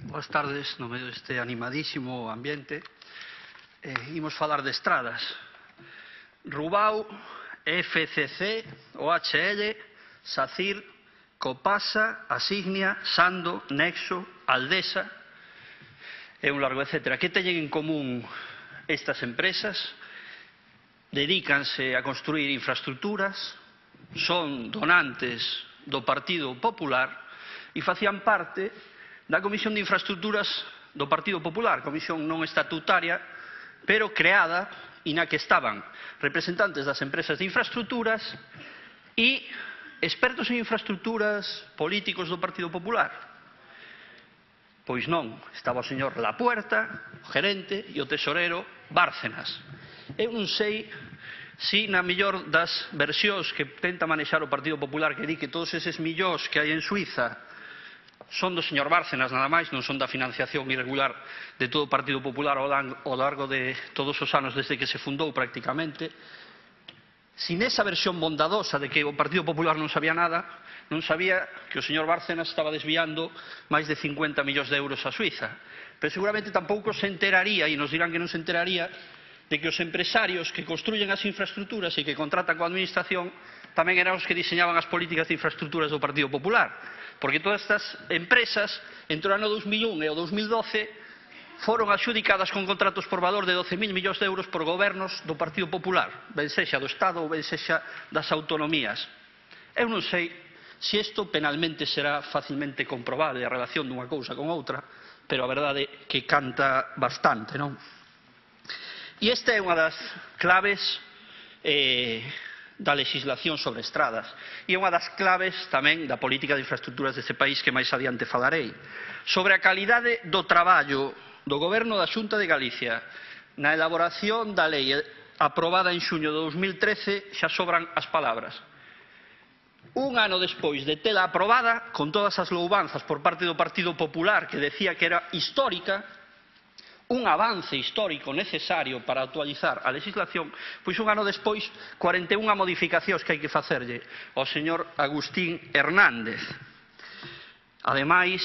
Boas tardes, no medio deste animadísimo ambiente. Imos falar de estradas. Rubao, FCC, OHL, SACIR, Copasa, Asignia, Sando, Nexo, Aldesa e un largo etcétera. Que teñen en común estas empresas? Dedícanse a construir infraestructuras, son donantes do Partido Popular e facían parte da Comisión de Infraestructuras do Partido Popular, comisión non estatutaria, pero creada e na que estaban representantes das empresas de infraestructuras e expertos en infraestructuras políticos do Partido Popular. Pois non, estaba o señor Lapuerta, o gerente, e o tesorero Bárcenas. Eu non sei se na mellor das versións que tenta manexar o Partido Popular, que di que todos eses millóns que hai en Suiza son do señor Bárcenas nada máis, non son da financiación irregular de todo o Partido Popular ao largo de todos os anos desde que se fundou prácticamente. Sin esa versión bondadosa de que o Partido Popular non sabía nada, non sabía que o señor Bárcenas estaba desviando máis de 50 millóns de euros a Suiza. Pero seguramente tampouco se enteraría, e nos dirán que non se enteraría, de que os empresarios que construyen as infraestructuras e que contratan coa administración tamén eran os que diseñaban as políticas de infraestructuras do Partido Popular. Porque todas estas empresas, entre o ano 2001 e o 2012, foron adxudicadas con contratos por valor de 12.000 millóns de euros por gobernos do Partido Popular, ben sexa do Estado ou ben sexa das autonomías. Eu non sei se isto penalmente será facilmente comprobable a relación dunha cousa con outra, pero a verdade é que canta bastante, non? E esta é unha das claves da legislación sobre estradas e é unha das claves tamén da política de infraestructuras deste país que máis adiante falarei. Sobre a calidade do traballo do Goberno da Xunta de Galicia na elaboración da lei aprobada en xuño de 2013 xa sobran as palabras. Un ano despois de tela aprobada, con todas as louvanzas por parte do Partido Popular que decía que era histórica, un avance histórico necesario para actualizar a legislación, pois un ano despois 41 modificacións que hai que facerlle ao señor Agustín Hernández. Ademais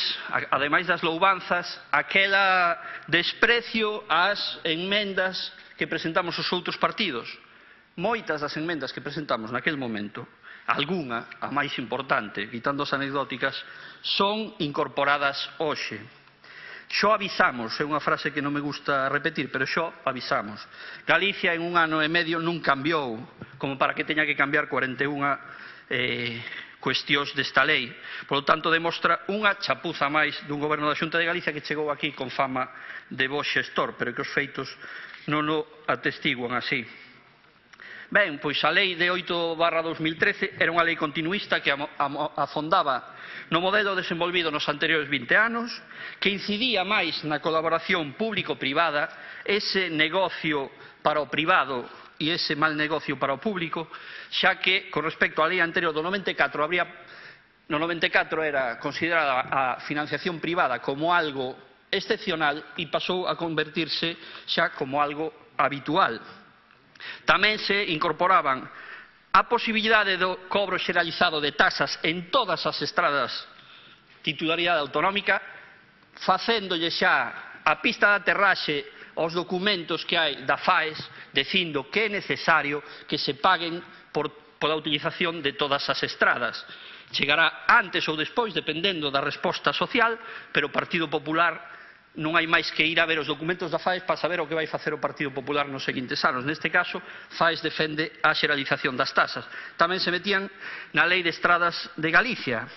das louvanzas, aquela desprecio ás enmendas que presentamos os outros partidos. Moitas das enmendas que presentamos naquel momento, algunha, a máis importante, quitando as anecdóticas, son incorporadas hoxe. Xo avisamos, é unha frase que non me gusta repetir, pero xo avisamos. Galicia en un ano e medio non cambiou, como para que teña que cambiar 41 cuestións desta lei. Por lo tanto, demostra unha chapuza máis dun goberno da Xunta de Galicia que chegou aquí con fama de bo xestor, pero que os feitos non o atestiguan así. Ben, pois a lei de 8/2013 era unha lei continuista que afondaba no modelo desenvolvido nos anteriores 20 anos, que incidía máis na colaboración público-privada, ese negocio para o privado e ese mal negocio para o público, xa que, con respecto á lei anterior do 94, no 94 era considerada a financiación privada como algo excepcional e pasou a convertirse xa como algo habitual. Tamén se incorporaban a posibilidade do cobro xeralizado de tasas en todas as estradas titularidade autonómica, facéndolle xa a pista de aterraxe aos documentos que hai da FAES, dicindo que é necesario que se paguen pola utilización de todas as estradas. Chegará antes ou despois, dependendo da resposta social, pero o Partido Popular non hai máis que ir a ver os documentos da FAES para saber o que vai facer o Partido Popular nos seguintes anos. Neste caso, FAES defende a xeralización das tasas. Tamén se metían na Lei de Estradas de Galicia.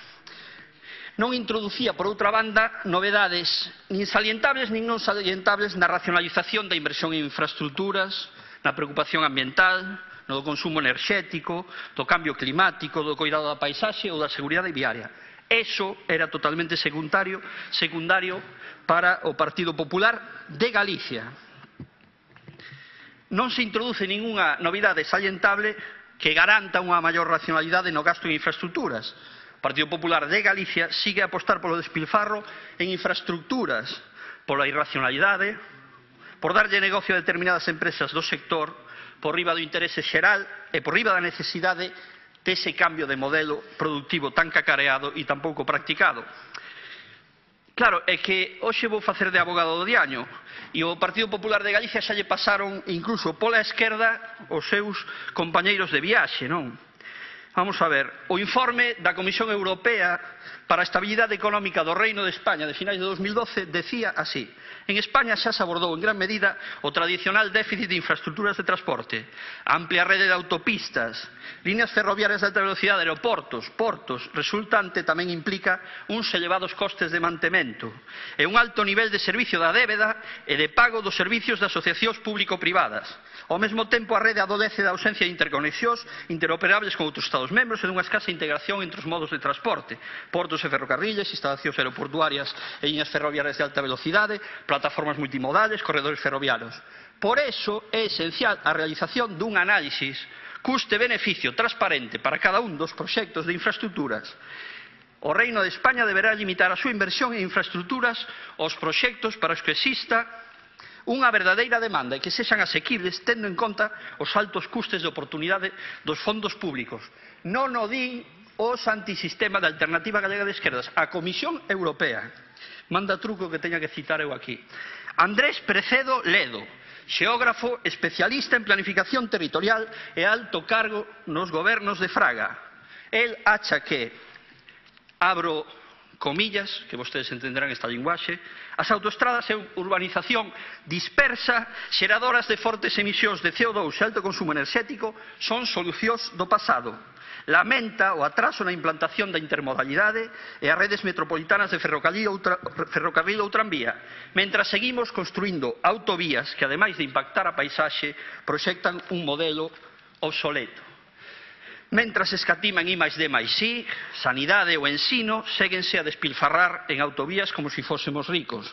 Non introducía, por outra banda, novedades nin salientables nin non salientables na racionalización da inversión en infraestructuras, na preocupación ambiental, no do consumo enerxético, do cambio climático, do coidado da paisaxe ou da seguridade viaria. Eso era totalmente secundario para o Partido Popular de Galicia. Non se introduce ningunha novidade salientable que garanta unha maior racionalidade no gasto en infraestructuras. O Partido Popular de Galicia sigue a apostar polo despilfarro en infraestructuras, pola irracionalidade, por darlle negocio a determinadas empresas do sector, por riba do interese xeral e por riba da necesidade dese cambio de modelo productivo tan cacareado e tan pouco practicado. Claro, é que hoxe vou facer de abogado do diaño e o Partido Popular de Galicia xa lle pasaron incluso pola esquerda os seus compañeiros de viaxe, non? Vamos a ver, o informe da Comisión Europea para a Estabilidade Económica do Reino de España de finais de 2012 decía así: en España xa se abordou en gran medida o tradicional déficit de infraestructuras de transporte, a amplia rede de autopistas, líneas ferroviarias de alta velocidade, aeroportos, portos, resultante tamén implica uns elevados costes de mantemento e un alto nivel de servicio da débeda e de pago dos servicios de asociacións público-privadas. Ao mesmo tempo, a rede adolece da ausencia de interconexións interoperables con outros Estados membros e dunha escasa integración entre os modos de transporte, portos e ferrocarriles, instalacións aeroportuarias e liñas ferroviarias de alta velocidade, plataformas multimodales, corredores ferroviarios. Por eso é esencial a realización dun análisis custe-beneficio transparente para cada un dos proxectos de infraestructuras. O Reino de España deberá limitar a súa inversión en infraestructuras aos proxectos para os que exista unha verdadeira demanda e que sexan asequibles tendo en conta os altos custes de oportunidade dos fondos públicos. Non o din os antisistema da Alternativa Galega de Esquerdas, a Comisión Europea. Manda truco que teña que citar eu aquí. Andrés Precedo Ledo, xeógrafo especialista en planificación territorial e alto cargo nos gobernos de Fraga. El acha que, abro comillas, que vostedes entenderán esta linguaxe, as autoestradas e urbanización dispersa, xeradoras de fortes emisións de CO2 e alto consumo enerxético son solucións do pasado. Lamenta o atraso na implantación da intermodalidade e as redes metropolitanas de ferrocarril ou tranvía, mentras seguimos construindo autovías que, ademais de impactar a paisaxe, proxectan un modelo obsoleto. Mentras escatiman I+D+I, sanidade ou ensino, séguense a despilfarrar en autovías como se fósemos ricos.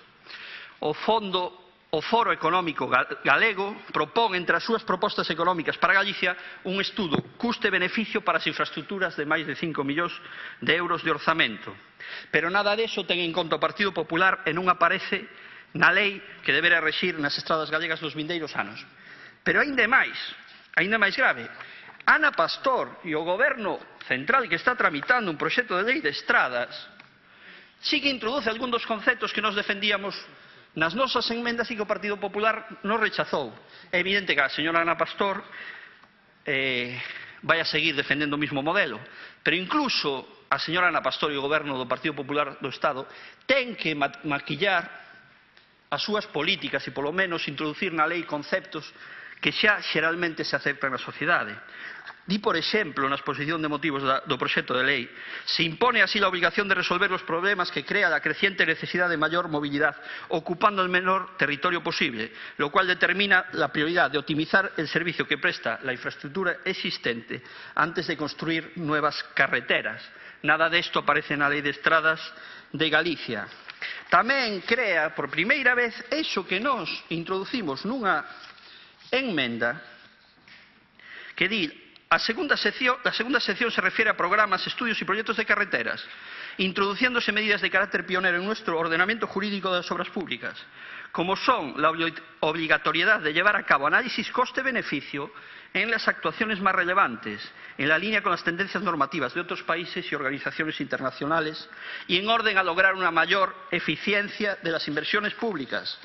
O Foro Económico Galego propón entre as súas propostas económicas para Galicia un estudo custe-beneficio para as infraestructuras de máis de 5 millóns de euros de orzamento. Pero nada deso ten en conta o Partido Popular e non aparece na lei que deberá rexir nas estradas galegas nos vindeiros anos. Pero ainda máis grave, Ana Pastor e o Goberno Central que está tramitando un proxecto de lei de estradas sí que introduce algún dos conceptos que nos defendíamos nas nosas enmendas e que o Partido Popular nos rechazou. É evidente que a señora Ana Pastor vai a seguir defendendo o mismo modelo, pero incluso a señora Ana Pastor e o Goberno do Partido Popular do Estado ten que maquillar as súas políticas e polo menos introducir na lei conceptos que xa xeralmente se aceptan na sociedade. Di, por exemplo, na exposición de motivos do proxecto de lei, se impone así a obrigación de resolver os problemas que crea a creciente necesidade de maior movilidade, ocupando el menor territorio posible, lo cual determina la prioridad de optimizar el servicio que presta la infraestructura existente antes de construir nuevas carreteras. Nada desto aparece na Lei de Estradas de Galicia. Tamén crea, por primeira vez, eso que nós introducimos nunha enmenda que di: la segunda sección se refiere a programas, estudios y proyectos de carreteras, introduciéndose medidas de carácter pionero en nuestro ordenamiento jurídico de las obras públicas, como son la obligatoriedad de llevar a cabo análisis coste-beneficio en las actuaciones más relevantes, en la línea con las tendencias normativas de otros países y organizaciones internacionales, y en orden a lograr una mayor eficiencia de las inversiones públicas,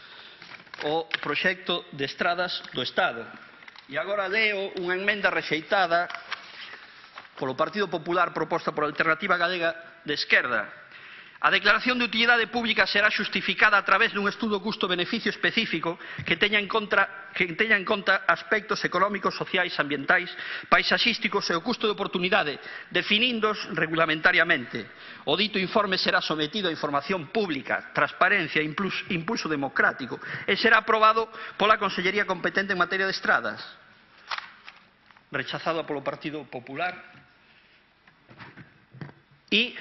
o proxecto de estradas do Estado. E agora leo unha enmenda rexeitada polo Partido Popular proposta por a Alternativa Galega de Esquerda. A declaración de utilidade pública será xustificada a través dun estudo custo-beneficio específico que teña en conta aspectos económicos, sociais, ambientais, paisaxísticos e o custo de oportunidade, definíndos regulamentariamente. O dito informe será sometido a información pública, transparencia e impulso democrático e será aprobado pola Consellería competente en materia de estradas. Rechazado polo Partido Popular. E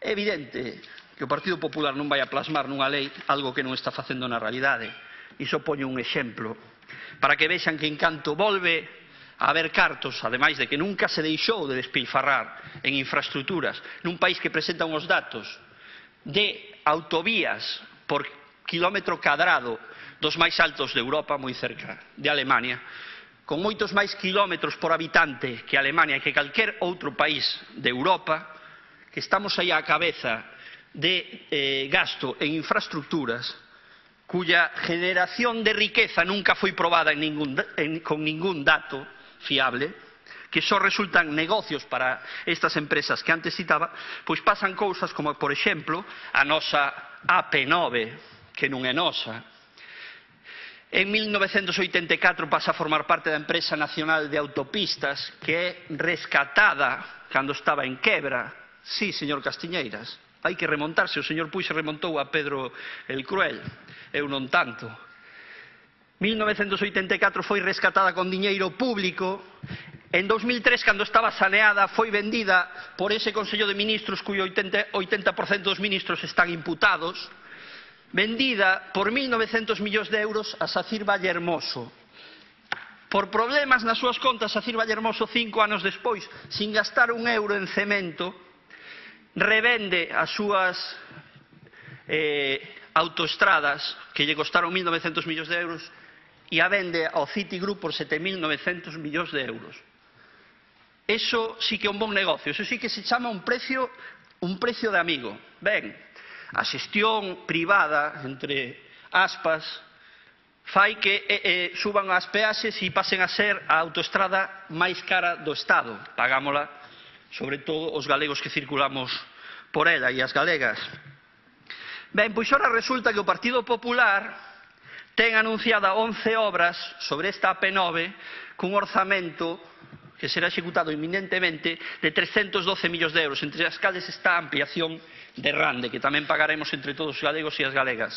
é evidente que o Partido Popular non vai a plasmar nunha lei algo que non está facendo na realidade. Iso poño un exemplo para que vexan que en canto volve a haber cartos, ademais de que nunca se deixou de despilfarrar en infraestructuras, nun país que presenta uns datos de autovías por kilómetro cadrado dos máis altos de Europa, moi cerca de Alemania, con moitos máis kilómetros por habitante que Alemania e que calquer outro país de Europa, que estamos aí á cabeza de gasto en infraestructuras cuya generación de riqueza nunca foi probada con ningún dato fiable, que só resultan negocios para estas empresas que antes citaba, pois pasan cousas como, por exemplo, a nosa AP9, que non é nosa. En 1984 pasa a formar parte da Empresa Nacional de Autopistas, que é rescatada cando estaba en quebra. Sí, señor Castiñeiras, hai que remontarse. O señor Puig se remontou a Pedro el Cruel, eu non tanto. 1984 foi rescatada con diñeiro público. En 2003, cando estaba saneada, foi vendida por ese Consello de Ministros, cuyo 80% dos ministros están imputados, vendida por 1.900 millóns de euros a Sacir Vallehermoso. Por problemas nas súas contas, Sacir Vallehermoso, 5 anos despois, sin gastar un euro en cemento, revende as súas autoestradas, que lle costaron 1.900 millóns de euros, e a vende ao Citigroup por 7.900 millóns de euros. Eso sí que é un bon negocio, eso sí que se chama un precio de amigo. Ben, a xestión privada, entre aspas, fai que suban as peaxes e pasen a ser a autoestrada máis cara do Estado. Pagámola, sobre todo, os galegos que circulamos por ela e as galegas. Ben, pois ora resulta que o Partido Popular ten anunciada 11 obras sobre esta AP9 cun orzamento que será executado inminentemente de 312 millóns de euros, entre as cales está a ampliación de Rande, que tamén pagaremos entre todos os galegos e as galegas.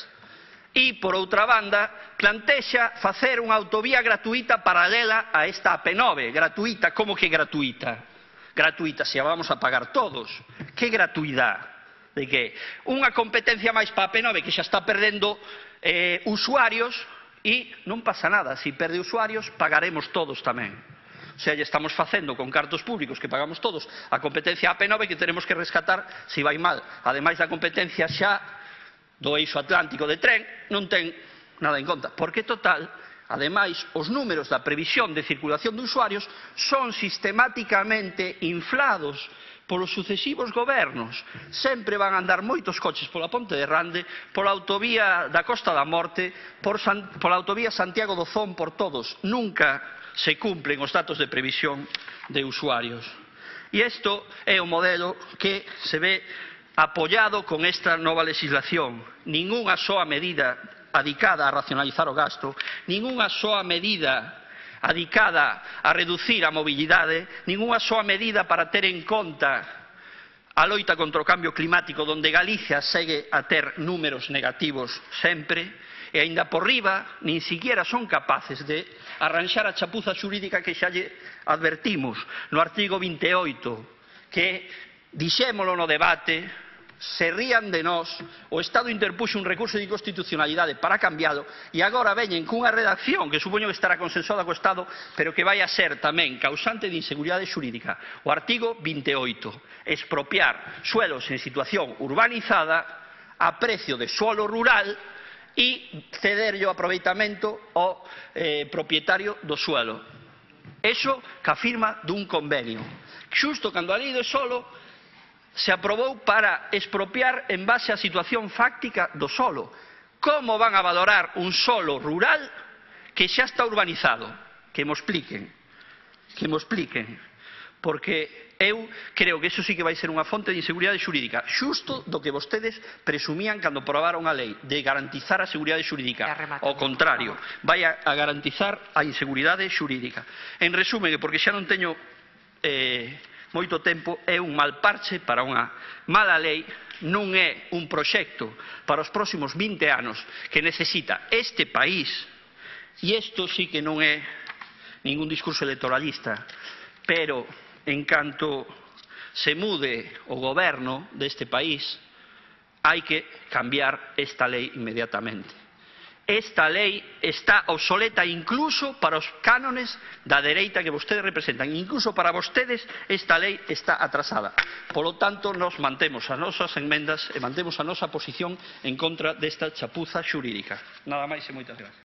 E, por outra banda, plantexa facer unha autovía gratuita paralela a esta AP9. Gratuita, como que gratuita? Gratuita, se a vamos a pagar todos. Que gratuidade? De que? Unha competencia máis para a AP9 que xa está perdendo usuarios e non pasa nada. Se perde usuarios, pagaremos todos tamén. O sea, estamos facendo con cartos públicos que pagamos todos a competencia AP9 que tenemos que rescatar se vai mal. Ademais da competencia xa do eixo atlántico de tren, non ten nada en conta. Porque, total, ademais, os números da previsión de circulación de usuarios son sistemáticamente inflados polos sucesivos gobernos. Sempre van a andar moitos coches pola Ponte de Rande, pola autovía da Costa da Morte, pola autovía Santiago do Zón, por todos. Nunca se cumplen os datos de previsión de usuarios. E isto é o modelo que se ve apoiado con esta nova legislación. Ningunha soa medida adicada a racionalizar o gasto, ningunha soa medida adicada a reducir a mobilidade, ningunha soa medida para ter en conta a loita contra o cambio climático, donde Galicia segue a ter números negativos sempre, e aínda por riba, nin siquiera son capaces de arranxar a chapuza xurídica que xa lle advertimos no artigo 28, que dixémolo no debate, se rían de nós, o Estado interpuxo un recurso de inconstitucionalidade para cambialo, e agora veñen cunha redacción que supoño que estará consensuada co Estado, pero que vai a ser tamén causante de inseguridade xurídica. O artigo 28, expropiar suelos en situación urbanizada a precio de suelo rural e cederlle o aproveitamento ao propietario do suelo. Eso que afirma dun convenio. Xusto cando a lei do solo se aprobou para expropiar en base á situación fáctica do solo. Como van a valorar un solo rural que xa está urbanizado? Que mo expliquen. Que mo expliquen. Porque eu creo que eso sí que vai ser unha fonte de inseguridade xurídica, xusto do que vostedes presumían cando aprobaron a lei, de garantizar a seguridade xurídica. Ao contrario, vai a garantizar a inseguridade xurídica. En resumen, porque xa non teño moito tempo, é un mal parche para unha mala lei, non é un proxecto para os próximos 20 anos que necesita este país, e isto sí que non é ningún discurso electoralista, pero en canto se mude o goberno deste país, hai que cambiar esta lei inmediatamente. Esta lei está obsoleta incluso para os cánones da dereita que vostedes representan. Incluso para vostedes esta lei está atrasada. Polo tanto, nos mantemos as nosas enmendas e mantemos a nosa posición en contra desta chapuza xurídica. Nada máis e moitas gracias.